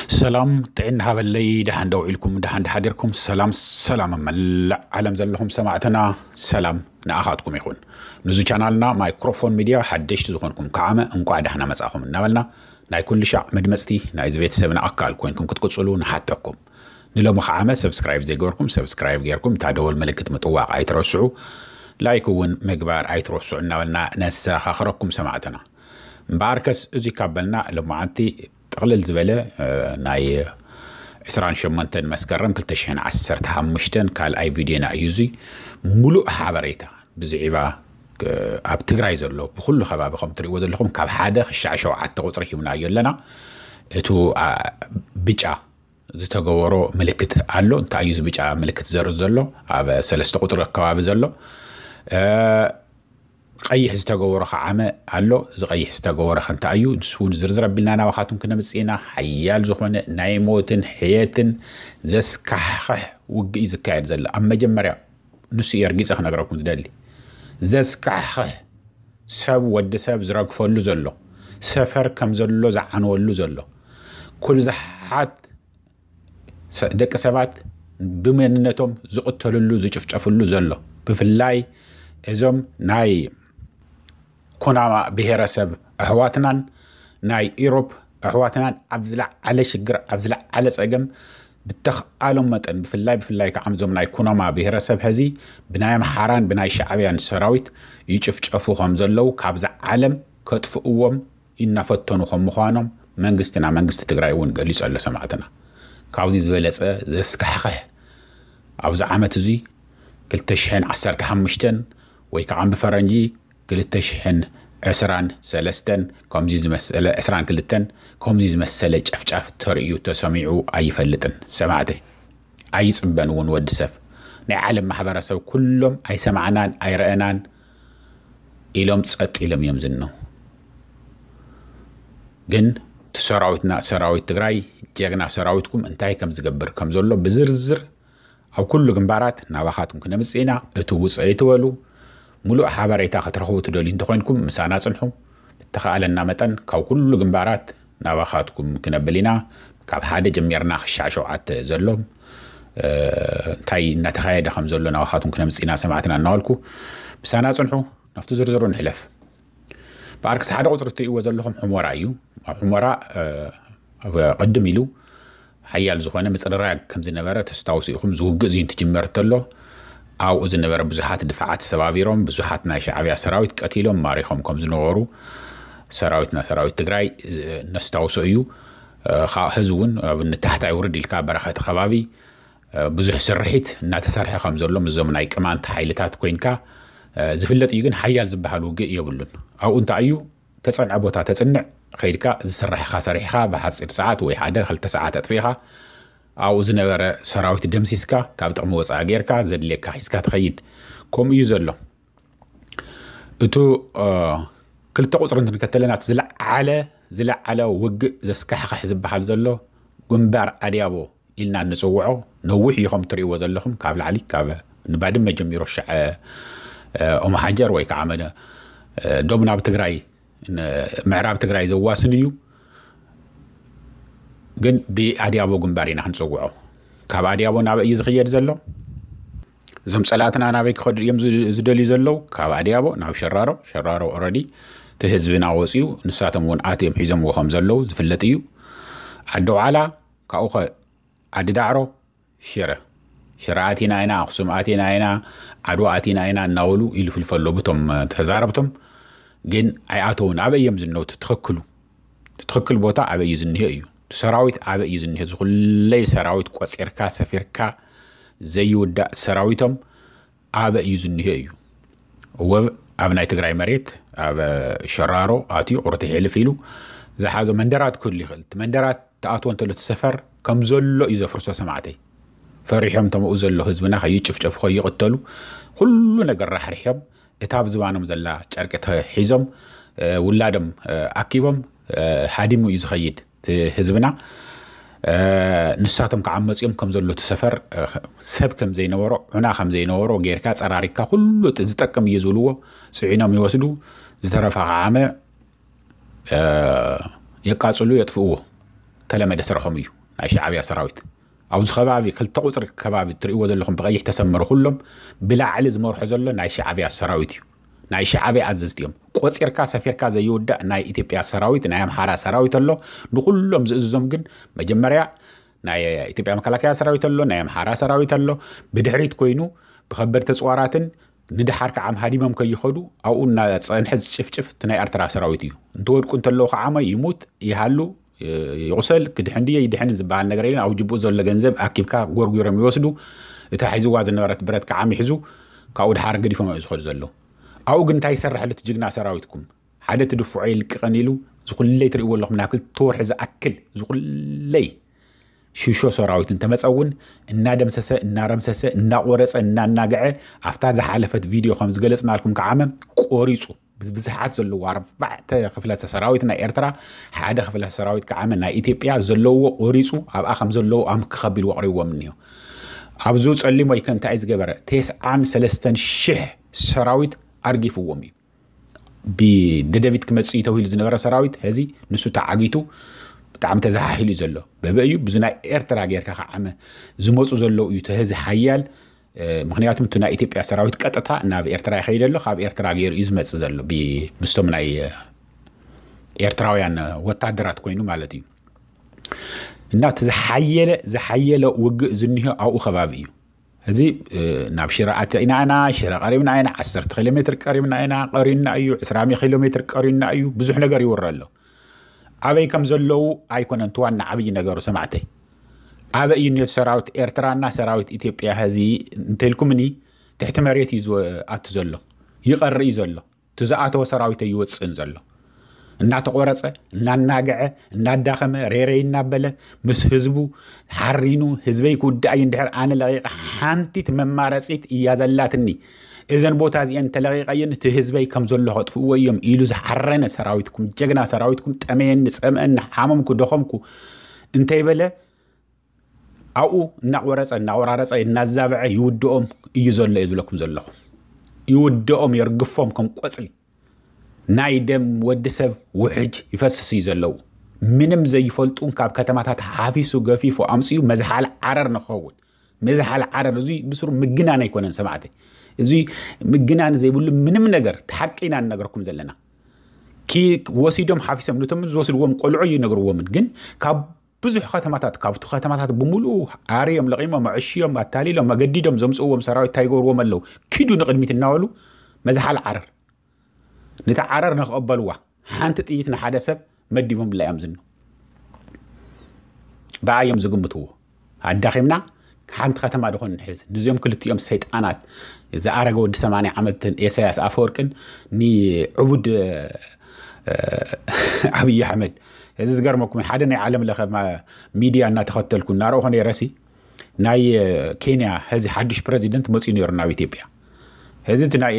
ሰላም ጥዕና ሃበለይ። ደሓን ደው ኢልኩም፣ ደሓን ደሓዲርኩም። ሰላም ሰላም፣ መላእ ዓለም ዘለኹም ሰማዕትና፣ ሰላም ንኣኻትኩም ይኹን። ንዚ ቻናልና ማይክሮፎን ሚድያ ሓደሽቲ ዝኾንኩም ከዓመ እንቋዕ ደሕና መጻኹም እናበልና፣ ናይ ኩሉ ሻዕ መድመጽቲ ናይዚ ቤተሰብና ኣካል ኮይንኩም ክትቅጽሉ ንሓተኩም። ንሎሚ ከዓመ ሰብስክራይብ ዘይገበርኩም ሰብስክራይብ ገይርኩም እታ ደወል ምልክት ምጥዋቕ ኣይትረስዑ። ላይክ እውን ምግባር ኣይትረስዑ እናበልና ነሰኻኽረኩም ሰማዕትና። እምበኣርከስ እዚ ካብ በልና ሎማዓንቲ ጥቕልል ዝበለ ናይ ዕስራን ሸሞንተን መስከረም ክልተ ሽሕን ዓሰርተ ሓሙሽተን ካልኣይ ቪድዮና እዩ። እዚ ሙሉእ ሓበሬታ ብዝዒባ ኣብ ትግራይ ዘሎ ብኩሉ ከባቢ ከም ትሪእዎ ዘለኹም ካብ ሓደ ክሻዕ ሸውዓተ ቁፅሪ ሂብናዮ ኣለና። እቱ ብጫ ዝተገበሮ ምልክት ኣሎ። እንታይ እዩ እዚ ብጫ ምልክት ዘርእ ዘሎ? ኣብ ሰለስተ ቁፅሪ ከባቢ ዘሎ ቀይሕ ዝተገበሮ ከዓመ ኣሎ። እዚ ቀይሕ ዝተገበሮ ከ እንታይ እዩ? ንሱ እውን ዝርዝር ኣቢልና ናባኻትኩም ክነምፅእ ኢና። ሓያል ዝኾነ ናይ ሞትን ሕየትን ዘስካሕኽሕ ውግእ እዩ ዝካየድ ዘሎ። ኣብ መጀመርያ ንሱ እየ ርጊፀ ክነግረኩም ዝደሊ። ዘስካሕኽሕ ሰብ፣ ወዲ ሰብ ዝረግፈሉ ዘሎ፣ ሰፈር ከም ዘሎ ዝዓንወሉ ዘሎ፣ ኩሉ ዝሓት ደቂ ሰባት ብመንነቶም ዝቕተልሉ ዝጭፍጨፍሉ ዘሎ፣ ብፍላይ እዞም ናይ ኩናማ ብሄረሰብ ኣሕዋትናን ናይ ኢሮብ ኣሕዋትናን ኣብ ዝለዓለ ሽግር ኣብ ዝለዓለ ፀገም ብተኽኣሎም መጠን ብፍላይ ብፍላይ ከዓ እዞም ናይ ኩናማ ብሄረሰብ ሕዚ ብናይ ኣምሓራን ብናይ ሻዕብያን ሰራዊት ይጭፍጨፉ ከም ዘለዉ ካብዚ ዓለም ከጥፍእዎም እናፈተኑ ከም ምዃኖም መንግስትና መንግስቲ ትግራይ እውን ገሊፁ ኣሎ ሰማዕትና። ካብዚ ዝበለፀ ዘስካሕኽሕ ኣብዚ ዓመት እዚ ክልተ ሽሕን ዓሰርተ ሓሙሽተን ወይ ከዓ ብፈረንጂ ክልተ ሽሕን ዕስራን ሰለስተን ከምዚ ዝመሰለ ዕስራን ክልተን ከምዚ ዝመሰለ ጨፍጫፍ ተርእዩ ተሰሚዑ ኣይፈልጥን ሰማዕተይ። ኣይፅበን እውን ወዲ ሰብ ናይ ዓለም ማሕበረሰብ ኩሎም ኣይሰማዕናን ኣይረአናን ኢሎም ፀጥ ኢሎም እዮም ዝነው። ግን እቲ ሰራዊትና ሰራዊት ትግራይ ጀግና ሰራዊትኩም እንታይ ከም ዝገብር ከም ዘሎ ብዝርዝር ኣብ ኩሉ ግንባራት ናባኻትኩም ክነምፅእ ኢና። እቲ ውፅእ ኣይትበሉ። ሙሉእ ሓበሬታ ክትረኽቡ ትደልዩ እንተኾይንኩም ምሳና ፅንሑ። ብተኻእለና መጠን ካብ ኩሉ ግንባራት ናባኻትኩም ክነብል ኢና። ካብ ሓደ ጀሚርና ክሻዕ ሸውዓተ ዘሎ እንታይ እናተኻየደ ከም ዘሎ ናባኻትኩም ክነምፅእ ኢና ሰማዕትና እናበልኩ ምሳና ፅንሑ። ናብቲ ዝርዝሩ ንሕለፍ። ብኣርክስ ሓደ ቁፅሪ እትርእይዎ ዘለኹም ሑመራ እዩ። ኣብ ሑመራ ኣብ ቅድም ኢሉ ሓያል ዝኾነ ምፅርራግ ከም ዝነበረ ተስታውሱ ኢኹም። ዝውግእ እዚ እንትጅመር ተሎ ኣብኡ ዝነበረ ብዙሓት ድፋዓት ሰባቢሮም ብዙሓት ናይ ሻዕብያ ሰራዊት ቀቲሎም ማሪኾም ከም ዝነበሩ ሰራዊትና ሰራዊት ትግራይ ነስታውሶ እዩ። ህዚ እውን ኣብ ንታሕታይ ውርድ ኢልካ በረኸቲ ከባቢ ብዙሕ ስርሒት እናተሰርሐ ከም ዘሎ ምስዞም ናይ ቅማንት ሓይልታት ኮይንካ ዝፍለጥ እዩ። ግን ሓያል ዝበሃል ውግእ የብሉን። ኣብኡ እንታይ እዩ ተፀንዐ ቦታ ተፅንዕ ከይድካ ዝስራሕኻ ሰሪሕኻ ብሓፂር ሰዓት ወይ ሓደ ክልተ ሰዓት ኣጥፊእኻ ኣብኡ ዝነበረ ሰራዊት ደምሲስካ ካብ ጥቕሚ ወፃኢ ጌርካ ዘድልየካ ሒዝካ ትኸይድ። ከምኡ እዩ ዘሎ። እቱ ክልተ ቁፅሪ እንትንከተለና እቲ ዝለዓለ ዝለዓለ ውግእ ዘስካሕኽሕ ዝበሃል ዘሎ ግንባር ኣድያቦ ኢልና እንፅውዖ ነዊሕ እዩ። ከም ትርእይዎ ዘለኹም ካብ ላዕሊ ካብ ንባድመ ጀሚሮ ሻዕ ኦመሓጀር ወይ ከዓ መደ ዶብ ናብ ትግራይ ምዕራብ ትግራይ ዘዋስን እዩ። ግን ብኣድያቦ ግንባር ኢና ክንፅውዖ። ካብ ኣድያቦ ናበይ እዩ ዝኽየድ ዘሎ? እዞም ፀላእትና ናበይ ክኸዱ እዮም ዝደልዩ ዘለዉ? ካብ ኣድያቦ ናብ ሸራሮ። ሸራሮ ኦረዲ እቲ ህዝብና ወፅዩ ንሳቶም እውን ኣትዮም ሒዞምዎ ከም ዘለዉ ዝፍለጥ እዩ። ዓዲ ዋዕላ ካብኡ ዓዲ ዳዕሮ ሽረ ሽረ ኣቲና ኢና ኣክሱም ኣቲና ኢና ዓድዋ ኣቲና ኢና እናበሉ ይልፍልፈ ኣለዉ ብቶም ተዛረብቶም። ግን ኣይኣተውን። ኣበይ እዮም ዝነው ትትኽክሉ ትትኽክል ቦታ ኣበይ እዩ ዝኒሀ እዩ ሰራዊት ኣበይ እዩ ዝኒሀ ዝኩለይ ሰራዊት ቆፂርካ ሰፊርካ ዘይውዳእ ሰራዊቶም ኣበይ እዩ ዝኒሀ እዩ። ወብ ኣብ ናይ ትግራይ መሬት ኣብ ሸራሮ ኣትዩ ቁርቲ ሕልፍ ኢሉ ዝሓዞ መንደራት ክህሉ ይኽእል። እቲ መንደራት ተኣትዎ እንተሎ እቲ ሰፈር ከም ዘሎ እዩ ዘፍርሶ ሰማዕተይ። ፈሪሖም ተምኡ ዘሎ ህዝብና ከይጭፍጨፉ ከይቕተሉ ኩሉ ነገር ራሕሪሖም እታ ኣብ ዝባኖም ዘላ ጨርቂ ተሒዞም ውላዶም ኣኪቦም ሃዲሙ እዩ ዝኸይድ እቲ ህዝብና። ንሳቶም ከዓ መፂኦም ከም ዘሎ እቲ ሰፈር ሰብ ከም ዘይነበሮ ዑና ከም ዘይነበሮ ጌርካ ፀራሪግካ ኩሉ ዝጠቅም እዩ ዝብልዎ ፅዒኖም ይወስዱ። ዝተረፈ ከዓመ የቃፅሉ የጥፍእዎ። ተለመደ ስርሖም እዩ። ናይ ሻዕብያ ሰራዊት። ኣብዚ ከባቢ ክልተ ቁፅሪ ከባቢ እትርእይዎ ዘለኹም ብቐይሕ ተሰመሩ ኩሎም ብላዕሊ ዝመርሖ ዘሎ ናይ ሻዕብያ ሰራዊት እዩ። ናይ ሻዕብያ ኣዘዝቲ እዮም። ቆፂርካ ሰፊርካ ዘይውዳእ ናይ ኢትዮጵያ ሰራዊት፣ ናይ ኣምሓራ ሰራዊት ኣሎ። ንኩሎም ዝእዝዞም ግን መጀመርያ ናይ ኢትዮጵያ መከላከያ ሰራዊት ኣሎ፣ ናይ ኣምሓራ ሰራዊት ኣሎ። ብድሕሪት ኮይኑ ብከበድቲ ኣፅዋራትን ንድሓር ከዓ ሃዲሞም ከይኸዱ ኣብኡ እናፀንሐ ዝጭፍጭፍ እቲ ናይ ኤርትራ ሰራዊት እዩ። እንትወድቁ እንተለዉ ከዓ ይሙት ይሃሉ ይቑሰል ክድሕን ድየ ይድሕን ዝበሃል ነገር የለን። ኣብ ጅብኡ ዘሎ ገንዘብ ኣኪብካ ጎርጒሮም ይወስዱ። እታ ሒዝዋ ዝነበረት ብረት ከዓ ይሕዙ ካብኡ ድሓር ገዲፎም እዮም ዝኸዱ ዘለዉ። ኣብኡ ግን እንታይ ይሰርሐሉ እቲ ጅግና ሰራዊትኩም? ሓደ ትድፍዖ ይልቅቐን ኢሉ ዝኩለይ ትርእይዎ ኣለኹም ናብ ክልተ ወርሒ ዝኣክል ዝኩለይ ሽሾ ሰራዊት እንተመፀ እውን እናደምሰሰ እናረምሰሰ እናቆረፀ እናናገዐ ኣብታ ዝሓለፈት ቪድዮ ከም ዝገለፅናልኩም ከዓመ ቆሪፁ ብብዝሓት ዘለዎ ኣርባዕተ ክፍለ ሰራዊት ናይ ኤርትራ ሓደ ክፍለ ሰራዊት ከዓመ ናይ ኢትዮጵያ ዘለዎ ቆሪፁ ኣብኣ ከም ዘለዎ ኣምክ ከቢሉ ኣቕሪብዎም እኒሆ። ኣብዙ ፀሊሞ ይከ እንታይ ዝገበረ ተስዓን ሰለስተን ሽሕ ሰራዊት ኣርጊፍዎም እዩ። ብደደቢት ክመፅእ እዩ ተባሂሉ ዝነበረ ሰራዊት ሀዚ ንሱ ተዓጊቱ ብጣዕሚ ተዘሓሒሉ እዩ ዘሎ። በበ እዩ ብዙ ናይ ኤርትራ ጌርካ ከዓመ ዝመፁ ዘለዉ እዩ እቲ ሀዚ ሓያል። ምክንያቱም እቲ ናይ ኢትዮጵያ ሰራዊት ቀጥታ ናብ ኤርትራ ይኸይድ ኣሎ። ካብ ኤርትራ ገይሩ እዩ ዝመፅእ ዘሎ ምስቶም ናይ ኤርትራውያን ወታደራት ኮይኑ ማለት እዩ። እና እቲ ዝሓየለ ዝሓየለ ውግእ ዝኒሆ ኣብኡ ከባቢ እዩ። እዚ ናብ ሽረ ኣተኢና ኢና፣ ሽረ ቀሪብና ኢና፣ ዓሰርተ ኪሎ ሜትር ቀሪብና ኢና፣ ቀሪና እዩ፣ ዕስራ ኪሎ ሜትር ቀሪና እዩ፣ ብዙሕ ነገር ይወረ ኣሎ። ኣበይ ከም ዘለዉ ኣይኮነን እቲ ዋና ዓብዪ ነገሩ ሰማዕተይ። ኣበይ እዩ ኔቱ ሰራዊት ኤርትራና ሰራዊት ኢትዮጵያ ሀዚ እንተልኩምኒ ትሕቲ መሬት እዩ ዝኣቱ ዘሎ፣ ይቐሪ እዩ ዘሎ። እቲ ዝኣተወ ሰራዊት ኣይወፅእን ዘሎ። እናተቆረፀ እናናገዐ እናዳኸመ ሬሬ እናበለ ምስ ህዝቡ ሓሪኑ ህዝበይ ክውዳእ እዩ እንድሕር ኣነ ለቂቐ ሓንቲት መማረፂት እያ ዘላትኒ እዘን ቦታ እዚአን እንተለቂቐየን እቲ ህዝበይ ከም ዘሎ ከጥፍእዎ እዮም ኢሉ ዝሓረነ ሰራዊትኩም ጀግና ሰራዊትኩም ጠመየኒ ፀምአኒ ሓመምኩ ደኸምኩ እንተይበለ ኣብኡ እናቆረፀ እናቆራረፀ እናዛበዐ ይውድኦም እዩ ዘሎ እየ ዝብለኩም ዘለኹ። ይውድኦም የርግፎም ከም ቆፅሊ ናይ ደም ወዲ ሰብ ውሕጅ ይፈስስ እዩ ዘለዉ። ምንም ዘይፈልጡን ካብ ከተማታት ሓፊሱ ገፊፉ ኣምፅኡ መዝሓል ዓረር ንክኸውን መዝሓል ዓረር እዙ ብስሩ ምግናን ኣይኮነን ሰማዕተይ። እዚ ምግናን ዘይብሉ ምንም ነገር ተሓቂ ኢና ንነገርኩም ዘለና። ወሲዶም ሓፊሶም ነቶም ዝወስድዎም ቆልዑ ይነግርዎምን ግን ካብ ብዙሕ ከተማታት ካብቲ ከተማታት ብምሉኡ ኣርዮም ለቂሞም ኣዕሽዮም ኣታሊሎም ኣገዲዶም ዘምፅእዎም ሰራዊት እንታይ ይገብርዎም ኣለዉ? ኪዱ ንቅድሚት እናበሉ መዝሓል ዓረር ነቲ ዓረር ንክቕበልዋ ሓንቲ ጥይት ንሓደ ሰብ መዲቦምላ እዮም ዝኑ ብኣዮም ዝግምትዎ ኣዳኺምና ሓንቲ ከተማ ድኾን ንሕዝ ንዚኦም ክልቲኦም ሰይጣናት ዝኣረገ ወዲ ሰማንያ ዓመትን ኤሳያስ ኣፈወርቅን ንዕቡድ ኣብይ ኣሕመድ እዚ ዝገርመኩም ሓደ ናይ ዓለም ለኸ ሚድያ እናተኸተልኩ እናረእኹ ነይረሲ ናይ ኬንያ ሀዚ ሓዱሽ ፕረዚደንት መፅኡ ነይሩ ናብ ኢትዮጵያ። እዚ እቲ ናይ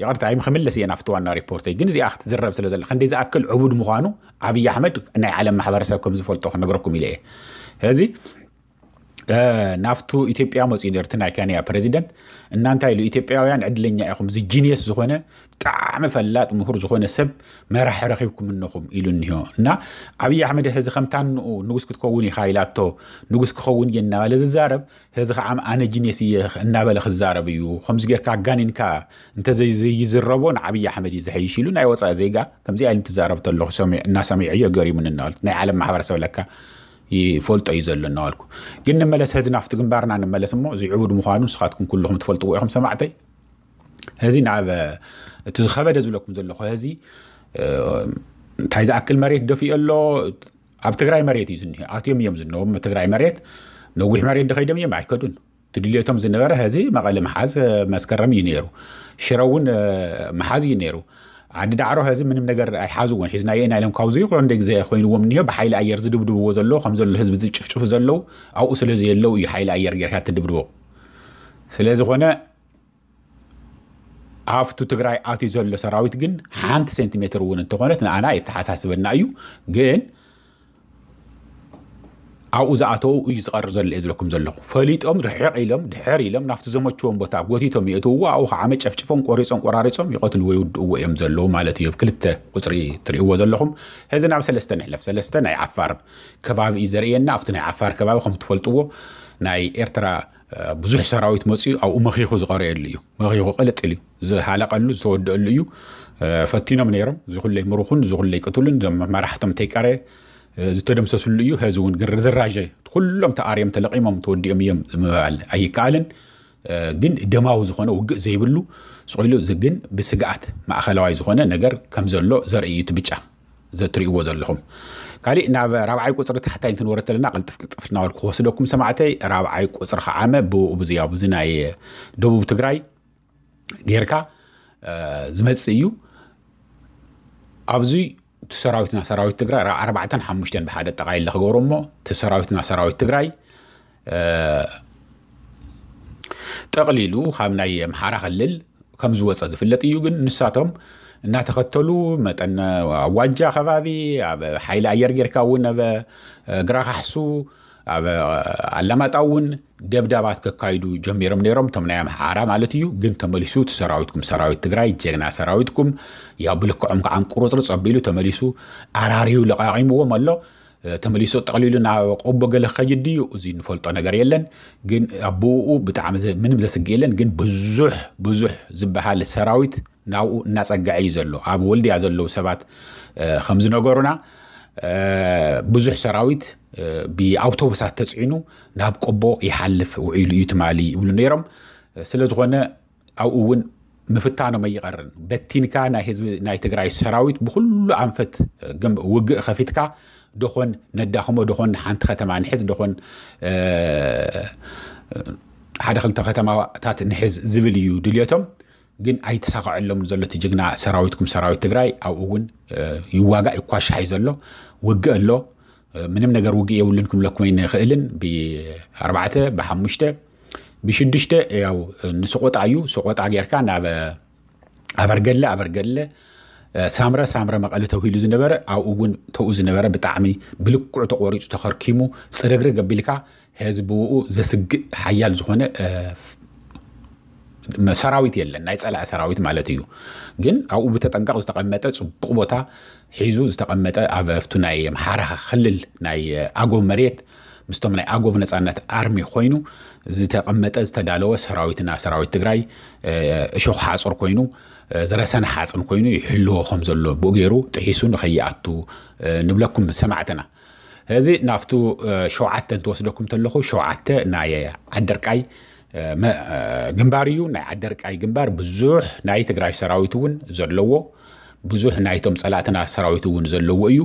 ይቕርታ ይም ክምለስ እየ ናብቲ ዋና ሪፖርተይ ግን እዚኣ ክትዝረብ ስለ ዘለ ክንደይ ዝኣክል ዕቡድ ምዃኑ ኣብይ ኣሕመድ ናይ ዓለም ማሕበረሰብ ከም ዝፈልጦ ክነግረኩም ኢለ እየ። እዚ ናብቱ ኢትዮጵያ መፅኡ ነርቱ ናይ ኬንያ ፕረዚደንት እናንታይ ኢሉ ኢትዮጵያውያን ዕድለኛ ኢኹም እዚ ጂኒየስ ዝኾነ ብጣዕሚ ፈላጥ ምሁር ዝኾነ ሰብ መራሒ ረኺብኩም እነኹም ኢሉ እኒሆ እና ኣብይ ኣሕመድ ሕዚ ከምታ ንኡ ንጉስ ክትከውን ኢኻ ኢላቶ ንጉስ ክኸውን እየ እናበለ ዝዛረብ ሕዚ ከዓ ኣነ ጂኒየስ እየ እናበለ ክዛረብ እዩ ከምዚ ጌርካ ኣጋኒንካ እንተዘይዝረቦ ንዓብይ ኣሕመድ እዩ ዝሐይሽ ኢሉ ናይ ወፃኢ ዜጋ ከምዚ ኢሉ ትዛረብ ተለኹ እናሰሚዐዮ ገሪሙኒ እናበለት ናይ ዓለም ማሕበረሰብ ለካ ይፈልጦ እዩ ዘሎ እናበልኩ ግን ንመለስ ሕዚ ናብቲ ግንባርና ንመለስ እሞ እዚ ዕቡድ ምዃኑ ንስኻትኩም ኩልኹም ትፈልጥዎ ኢኹም ሰማዕተይ ሕዚ ናብ እቲ ዝኸበደ ዝብለኩም ዘለኹ ሕዚ እንታይ ዝኣክል መሬት ደፊኡ ኣሎ ኣብ ትግራይ መሬት እዩ ዝኒሀ ኣትዮም እዮም ዝነዎም ትግራይ መሬት ነዊሕ መሬት ድኸይዶም እዮም ኣይከዱን ትድልዮቶም ዝነበረ ሕዚ መቐለ መሓዝ መስከረም እዩ ነይሩ ሽረ እውን መሓዝ እዩ ነይሩ ዓዲ ዳዕሮ ሕዚ ምንም ነገር ኣይሓዝዎን ሒዝናዮ ኢና ኢሎም ካብዚ ይኩሎ እንደ ግዜ ኮይንዎም እኒሆ ብሓይሊ ኣየር ዝድብድብዎ ዘሎ ከም ዘሎ ህዝቢ ዝጭፍጭፉ ዘለዉ ኣብኡ ስለ ዘየለዉ እዩ ሓይሊ ኣየር ጌርካ ትድብድቦ ስለ ዝኾነ ኣብቱ ትግራይ ኣትዩ ዘሎ ሰራዊት ግን ሓንቲ ሴንቲሜትር እውን እንተኾነት ንኣና የተሓሳስበና እዩ ግን ኣብኡ ዝኣተው እዩ ዝቐር ዘሎ እየ ዝብለኩም ዘለኹ። ፈሊጦም ርሕቕ ኢሎም ድሕር ኢሎም ናብቲ ዘመችዎም ቦታ ጎቲቶም የእትውዎ። ኣብኡ ከዓ መጨፍጭፎም ቆሪጾም ቆራሪጾም ይቐትልዎ ይውድእዎ እዮም ዘለዉ ማለት እዩ። ክልተ ቁፅሪ ትርእይዎ ዘለኹም። ሕዚ ናብ ሰለስተ ንሕለፍ። ሰለስተ ናይ ዓፋር ከባቢ እዩ ዘርእየና። ኣብቲ ናይ ዓፋር ከባቢ ከም ትፈልጥዎ ናይ ኤርትራ ብዙሕ ሰራዊት መፅኡ ኣብኡ መኺኹ ዝቐረየሉ እዩ። መኺኹ ቅልጥ ኢሉ እዩ ዝሃለቀሉ ዝተወደአሉ እዩ። ፈቲኖም ነይሮም ዝኹለይ ምሩኹን ዝኹለይ ቅትሉን ዞም መራሕቶም ተይቀረ ዝተደምሰስሉ እዩ። ሕዚ እውን ግን ርዝራዥ ኩሎም ተኣርዮም ተለቂሞም ተወዲኦም እዮም ምባል ኣይከኣልን። ግን ደማዊ ዝኾነ ውግእ ዘይብሉ ስቑሉ ግን ብስግኣት ማእኸላዋይ ዝኾነ ነገር ከም ዘሎ ዘርኢ እዩ እቲ ብጫ ዘትርእይዎ ዘለኹም። ካሊእ ናብ ራብዓይ ቁፅሪ ታሕታይ እንትንወረ ተለና ቅልጥፍ ቅልጥፍ እናበልኩ ክወስደኩም ሰማዕተይ። ራብዓይ ቁፅሪ ከዓመ ብኡ ብዙ ያው ብዙ ናይ ደቡብ ትግራይ ጌርካ ዝመፅእ እዩ። ኣብዚ እቲ ሰራዊትና ሰራዊት ትግራይ ኣርባዕተን ሓሙሽተን ብሓደ ጠቓይለ ክገብሮ እሞ እቲ ሰራዊትና ሰራዊት ትግራይ ጠቕሊሉ ካብ ናይ ኣምሓራ ክልል ከም ዝወፀ ዝፍለጥ እዩ። ግን ንሳቶም እናተኸተሉ መጠን ኣዋጃ ከባቢ ኣብ ሓይሊ ኣየር ጌርካ እውን ኣብ ግራካሕሱ ኣብ ኣላማጣ እውን ደብዳባት ከካይዱ ጀሚሮም ነይሮም እቶም ናይ ኣምሓራ ማለት እዩ። ግን ተመሊሱ እቲ ሰራዊትኩም ሰራዊት ትግራይ ጀግና ሰራዊትኩም ያው ብልክዖም ከዓ ቁርፅርፅ ኣቢሉ ተመሊሱ ኣራሪዩ ለቃቂምዎም ኣሎ። ተመሊሱ ጠቕሊሉ ናብ ቆቦ ገለ ክኸይድ ድዩ? እዚ ንፈልጦ ነገር የለን። ግን ኣብኡ ብጣዕሚ ምንም ዘስግእ የለን። ግን ብዙሕ ብዙሕ ዝበሃል ሰራዊት ናብኡ እናፀግዐ እዩ ዘሎ። ኣብ ወልድያ ዘለዉ ሰባት ከም ዝነገሩና ብዙሕ ሰራዊት ብኣውቶቡሳት ተፅዒኑ ናብ ቆቦ ይሓልፍ ውዒሉ እዩ ትማሊ ይብሉ ነይሮም። ስለ ዝኾነ ኣብኡ እውን ምፍታኖም ኣይቐርን። በቲንካ ናይ ህዝቢ ናይ ትግራይ ሰራዊት ብኩሉ ኣንፈት ውግእ ከፊትካ ደኾን ነዳኽሞ ደኾን ሓንቲ ከተማ ንሕዝ ደኾን ሓደ ክልተ ከተማታት ንሕዝ ዝብል እዩ ድልየቶም። ግን ኣይተሳኸዐሎም ዘሎ እቲ ጅግና ሰራዊትኩም ሰራዊት ትግራይ ኣብኡ እውን ይዋጋእ ይኳሻሕ እዩ ዘሎ። ውግእ ኣሎ። ምንም ነገር ውግእ የብሉን ክንብለኩም ኣይንኽእልን። ብኣርባዕተ ብሓሙሽተ ብሽዱሽተ ያው ንስቆጣ እዩ። ስቆጣ ጌርካ ናብ ኣበርገለ ኣበርገለ ሳምረ ሳምረ መቐለ ተውሂሉ ዝነበረ ኣብኡ እውን ተኡ ዝነበረ ብጣዕሚ ብልክዑ ተቆሪፁ ተኸርኪሙ ፅርግርግ ኣቢልካ ህዝቢ ብኡ ዘስግእ ሓያል ዝኾነ ሰራዊት የለን፣ ናይ ፀላኢ ሰራዊት ማለት እዩ። ግን ኣብኡ ብተጠንቀቕ ዝተቐመጠ ፅቡቕ ቦታ ሒዙ ዝተቐመጠ ኣብ ኣብቱ ናይ ኣምሓራ ክልል ናይ ኣጎብ መሬት ምስቶም ናይ ኣጎብ ነፃነት ኣርሚ ኮይኑ ዝተቐመጠ ዝተዳለወ ሰራዊትና ሰራዊት ትግራይ እሾኽ ሓፁር ኮይኑ ዝረሰነ ሓፅን ኮይኑ ይሕልዎ ከም ዘሎ ብኡ ገይሩ ጥሒሱ ንኸይኣቱ ንብለኩም ሰማዕትና። እዚ ናብቱ ሸውዓተ እንትወስደኩም ተለኹ ሸውዓተ ናይ ዓደርቃይ ግንባር እዩ። ናይ ዓደርቃይ ግንባር ብዙሕ ናይ ትግራይ ሰራዊት እውን ዘለዎ ብዙሕ ናይቶም ፀላእትና ሰራዊት እውን ዘለዎ እዩ።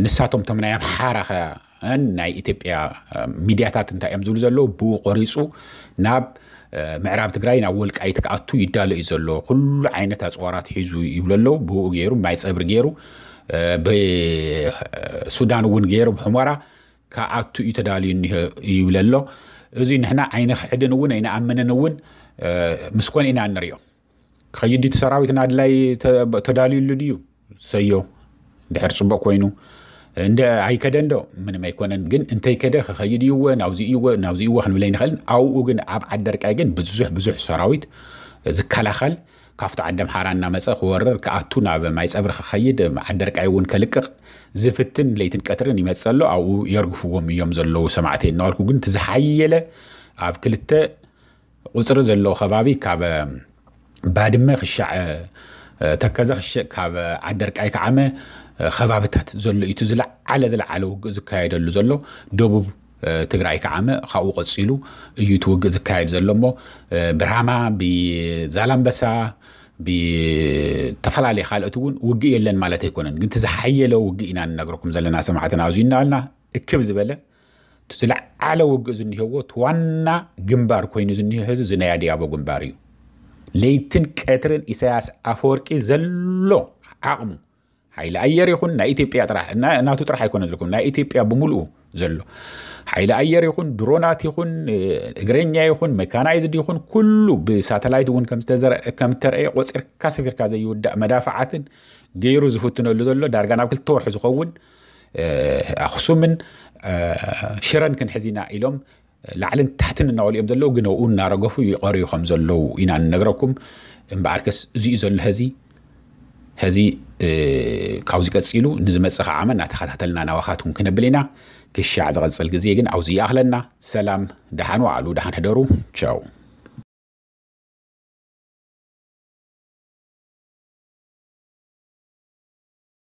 ንሳቶም ቶም ናይ ኣምሓራ ኸ ናይ ኢትዮጵያ ሚድያታት እንታይ እዮም ዝብሉ ዘለዉ? ብኡ ቆሪፁ ናብ ምዕራብ ትግራይ ናብ ወልቃይት ክኣቱ ይዳሎ እዩ ዘሎ። ኩሉ ዓይነት ኣፅዋራት ሒዙ ይብሉ ኣለዉ። ብኡ ገይሩ ማይ ፀብሪ ገይሩ ብሱዳን እውን ገይሩ ብሑመራ ክኣቱ እዩ ተዳልዩ እኒሀ ይብል ኣሎ። እዚ ንሕና ኣይንኽሕድን እውን ኣይንኣምንን እውን ምስ ኮነ ኢና ንሪኦ። ክኸይድ እቲ ሰራዊት ናድላይ ተዳልዩሉ ድዩ? ሰዮ ድሕር ፅቡቕ ኮይኑ እንደ ኣይከደ እንዶ ምንም ኣይኮነን። ግን እንተይከደ ክኸይድ እዩወ ናብዚ እዩወ ናብዚ እዩወ ክንብል ኣይንኽእልን። ኣብኡ ግን ኣብ ዓደርቃይ ግን ብዙሕ ብዙሕ ሰራዊት ዝከላኸል ካብቲ ዓዲ ኣምሓራ እናመፀ ክወርር ክኣቱ ናብ ማይ ፀብሪ ክኸይድ ዓደርቃይ እውን ከልቅቕ ዝፍትን ለይትን ቀትርን ይመፅእ ኣሎ። ኣብኡ የርግፍዎም እዮም ዘለዉ ሰማዕተይ እናበልኩ ግን እቲ ዝሓየለ ኣብ ክልተ ቁፅሪ ዘለዎ ከባቢ ካብ ባድመ ክሻዕ ተከዘ ክሽዕ ካብ ዓደርቃይ ከዓመ ከባብታት ዘሎ እዩ እቲ ዝለዓለ ዝለዓለ ውግእ ዝካየደሉ ዘሎ። ደቡብ ትግራይ ከዓመ ካብኡ ቀፂሉ እዩ እቲ ውግእ ዝካየድ ዘሎ እሞ ብራማ ብዛላምበሳ ብተፈላለየ ካልኦት እውን ውግእ የለን ማለት ኣይኮነን። ግን እቲ ዝሓየለ ውግእ ኢና ንነግረኩም ዘለና ሰማዕትና ኣብዚ እናበልና እክብ ዝበለ እቲ ዝለዓለ ውግእ ዝኒሀዎ እቲ ዋና ግንባር ኮይኑ ዝኒሀ ህዚ እዚ ናይ ኣዲያቦ ግንባር እዩ። ለይትን ቀትርን ኢሳያስ ኣፈወርቂ ዘሎ ዓቕሙ ሓይሊ ኣየር ይኹን ናይ ኢትዮጵያ ጥራሕ ናቱ ጥራሕ ኣይኮነ ዝልኩም ናይ ኢትዮጵያ ብምልኡ ዘሎ ሓይሊ ኣየር ይኹን ድሮናት ይኹን እግረኛ ይኹን መካናይዝድ ይኹን ኩሉ ብሳተላይት እውን ከምተረእየ ቆፂርካ ሰፊርካ ዘይውዳእ መዳፍዓትን ገይሩ ዝፍትነሉ ዘሎ ዳርጋ ናብ ክልተ ወርሒ ዝኸውን ኣኽሱምን ሽረን ክንሕዝ ኢና ኢሎም ላዕልን ታሕትን እናበሉ እዮም ዘለዉ። ግን ኣብኡ እናረገፉ ይቐርዩ ከም ዘለዉ ኢና ንነግረኩም። እምበኣርከስ እዚኡ ዘሎ ሕዚ ሕዚ ካብዚ ቀፂሉ ንዝመፅእ ከዓ ዓመት እናተኸታተልና ናባኻትኩም ክነብል ኢና። ክሻዕ ዝቐፅል ግዜ ግን ኣብዚ ይኣኽለና። ሰላም፣ ደሓን ዋዕሉ፣ ደሓን ሕደሩ። ቻው።